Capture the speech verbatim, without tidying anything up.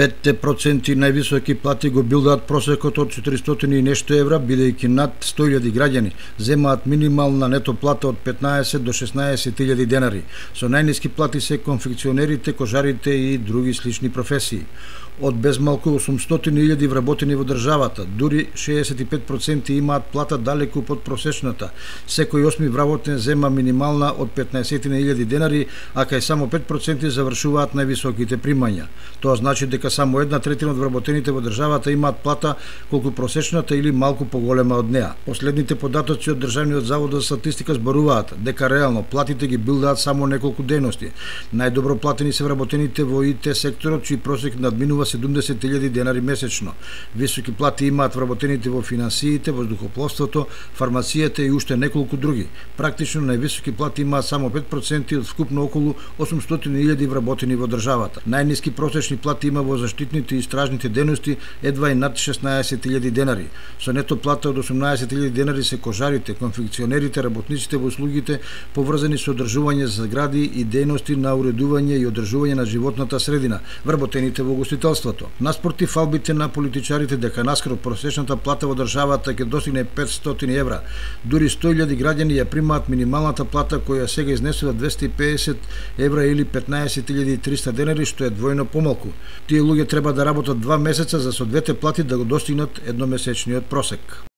пет проценти највисоки плати го билдаат просекот од четиристотини и нешто евра, бидејќи над сто илјади граѓани земаат минимална нето плата од петнаесет до шеснаесет илјади денари. Со најниски плати се конфекционерите, кожарите и други слични професии. Од безмалку осумстотини илјади вработени во државата, дури шеесет и пет проценти имаат плата далеку под просечната. Секој осми вработен зема минимална од петнаесет илјади денари, а кај само пет проценти завршуваат највисоките примања. Тоа значи дека само една третина од вработените во државата имаат плата колку просечната или малку поголема од неа. Последните податоци од Државниот завод за статистика зборуваат дека реално платите ги билдаат само неколку дејности. Најдобро платени се вработените во И Т секторот, чиј просек надминува седумдесет илјади денари месечно. Високи плати имаат вработените во финансиите, воздухопловството, фармацијата и уште неколку други. Практично највисоки плати имаат само пет проценти од вкупно околу осумстотини илјади вработени во државата. Најниски просечни плати има во заштитните и стражните дејности, едва и над шеснаесет илјади денари. Со нето плата од осумнаесет илјади денари се кожарите, конфекционерите, работниците во услугите поврзани со одржување згради и дејности на уредување и одржување на животната средина, вработените во гостителството. Наспроти фалбите на политичарите дека наскоро просечната плата во државата ќе достигне петстотини евра, дури сто илјади граѓани ја примаат минималната плата која сега изнесува двесте и педесет евра или петнаесет илјади и триста денари, што е двојно помалку. Тие луѓе треба да работат два месеца за со двете плати да го достигнат едномесечниот просек.